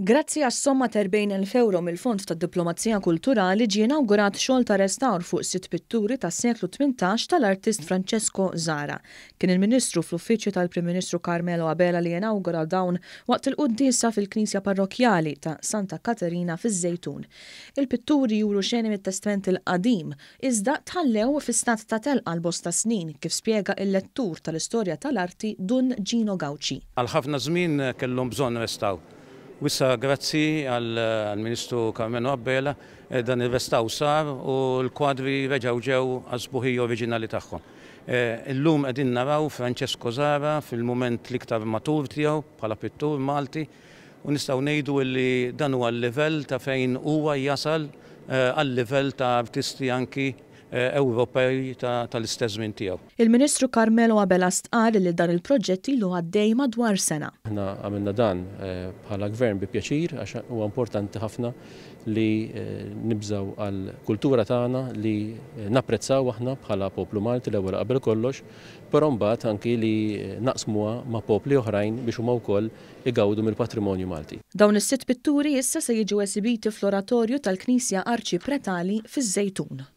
Grazzi għas-somma ta' 40,000 ewro mill-Fond tad-Diplomazija Kulturali ġie inawgurat xogħol ta' restawr fuq sitt pitturi tas-seklu 18 tal-artist Francesco Zahra. Kien il-Ministru fl-Uffiċċju tal-Prim Ministru Carmelo Abela li inawgura dawn waqt il-quddiesa fil-Knisja Parrokkjali ta' Santa Katerina fiż-Żejtun. Il-pitturi juru xeni mit-Testment il-Qadim, iżda tħallew fi stat ta' telqa għal bosta snin, kif spjega il-lettur tal-istorja tal-arti Dun Gino Gauci. Għal ħafna żmien kellhom bżonn restawr. U issa grazzi għall-Ministru Karmenu Abela dan ir-restawr sar u l-kwadri reġgħu ġew għas-sbuħija oriġinali tagħhom. Illum qegħdin naraw Francesco Zahra fil-mument l-iktar matur tiegħu bħala pittur Malti u nistgħu ngħidu li dan huwa l-livell ta' fejn huwa jasal għal-livell ta' artisti anki Ewropej tal-istess żmien tiegħu. Il-Ministru Carmelo Abela stqarr li dan il-proġett ilu għaddej madwar sena. Aħna għamilna dan bħala Gvern bi pjaċir għax huwa importanti ħafna li nibżgħu għall-kultura tagħna li napprezzaw aħna bħala poplu Malti l-ewwel qabel kollox, però mbagħad anki li naqsmuha ma' popli oħrajn biex huma wkoll igawdu mill-patrimonju Malti. Dawn is-sitt pitturi issa se jiġu esibiti fl-Oratorju tal-Knisja Arċipretali fiż-Żejtun.